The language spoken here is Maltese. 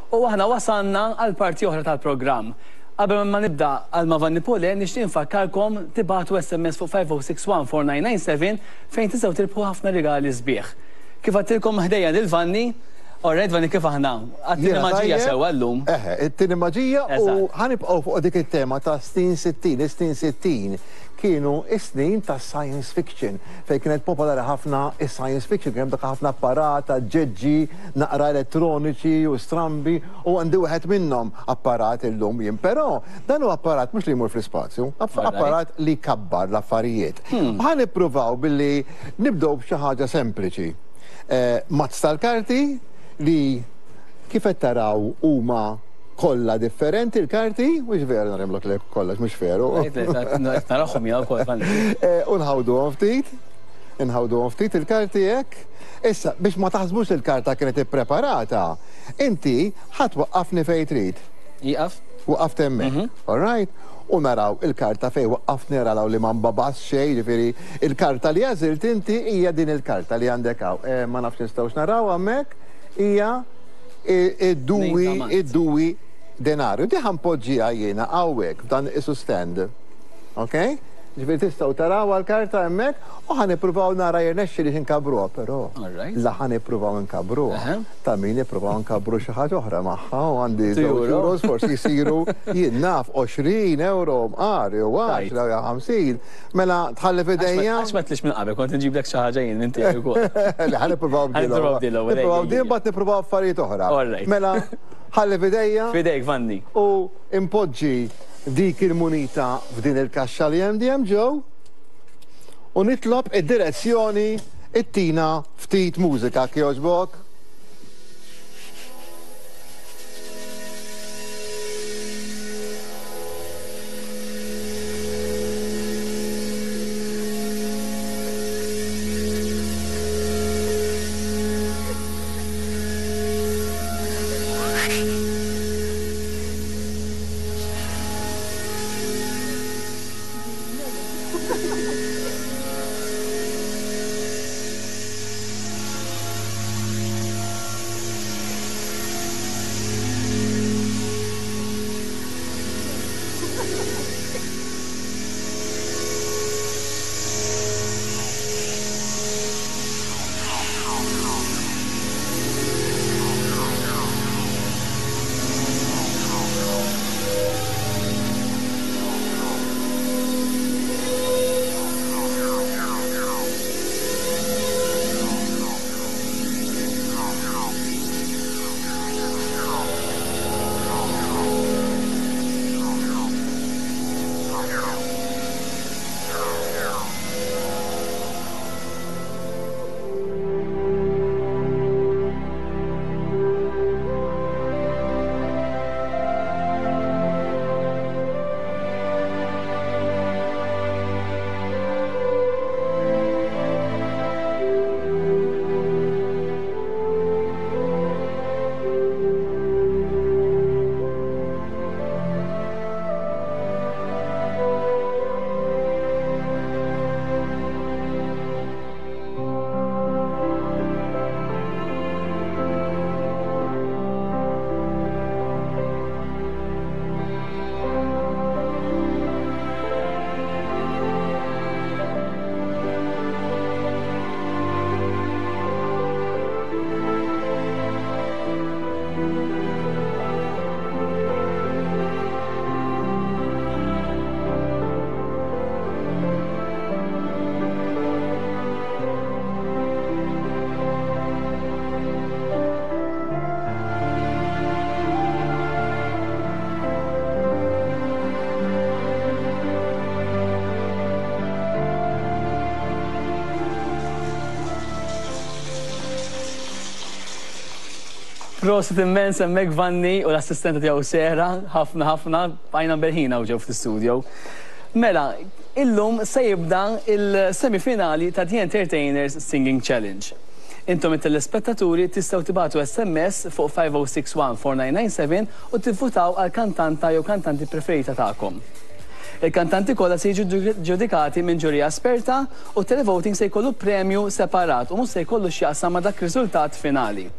U aħna wasalna għal parti oħra tal-programm. Qabel ma nibda għal ma' Vanni Pule, nixtieq infakkarkom tibagħtu SMS fuq 50614997 fejn tistgħu tirbħu ħafna rigali sbieħ. Kif għedtilkom ħdejja lil Vanni, Alright Vanni kif aħna? Għat-tieni maġija sewwa llum. Eħe, it-tieni maġija u ħa nibqgħu fuq dik it-tema ta' snin 60, is-snin 60 kienu s-snin tas-science fiction fejn kienet popolari ħafna is-science fiction, kien hemm dak ħafna apparat, aġġeġġi, naqra elettroniċi u strambi u għandi wieħed minnhom apparat illum jien. Però dan hu apparat mhux li jmur fl-ispazju, apparat li jkabbar l-affarijiet. Ħa nippruvaw billi nibdew b'xi ħaġa sempliċi. Mazz tal-karti li kif qed taraw huma kollha differenti l-karti, mhux veru narimlok lek kollox, mhux veru. Narahom jien ukoll. U nħawduhom ftit, inħawduhom ftit il-karti hekk. Issa, biex ma taħsbux li l-karta kienet ippreparata, inti ħa twaqqafni fejn trid. Ieqaf. Waqaft hemmhekk. All right? U naraw il-karta fejn waqqaftni naraw li ma nbabas xejn, jiġifieri il-karta li għażilt inti hija din il-karta li għandek hawn. Ma nafx nistgħux naraw hemmhekk, hija id-dui id-dui denarju. Di ħa npoġġiha jiena hawnhekk f'dan isu stand. Ok? Ġifieri tistgħu tarawha l-karta hemmhekk u ħa nippruvaw nara jirnexxilix inkabbruha, però la ħa nippruvaw inkabbruha, ta' min nippruvaw inkabbru xi ħaġa oħra magħha u għandi żewġ euros forsi jsiru jien naf 20 euro mqar jew 10 jew 50. Mela tħalli f'idejja. Għax ma tlix minn qabel kont inġiblek xi ħaġa jien minn tiegħi wkoll. Le ħa nippruvaw b'din. Nippruvaw b'din l-ewwel. Nippruvaw b'din mbagħad nippruvaw affarijiet oħra. Mela ħalli f'idejja. F'idejk Vanni. U impoġġi dik il-munita f'din il-kaxxa li hemm dejjem ġew u nitlob id-direzzjoni ittina ftit mużika kjoġbok. Prosit immens hemmhekk Vanni u l-assistenta tiegħu Sera, ħafna ħafna, bqajna mbelħin hawn ġew fl-istudio. Mela, illum se jibda il-semifinali ta' The Entertainers Singing Challenge. Intom it-telespettaturi tistgħu tibagħtu SMS fuq 5061 4997 u tivvutaw għal kantanta jew kantanti preferita tagħkom. Il-kantanti kollha se jiġu ġudikati minn ġurija esperta u t-televoting se jkollu premju separat u mhux se jkollu x'jaqsam ma' dak riżultat finali.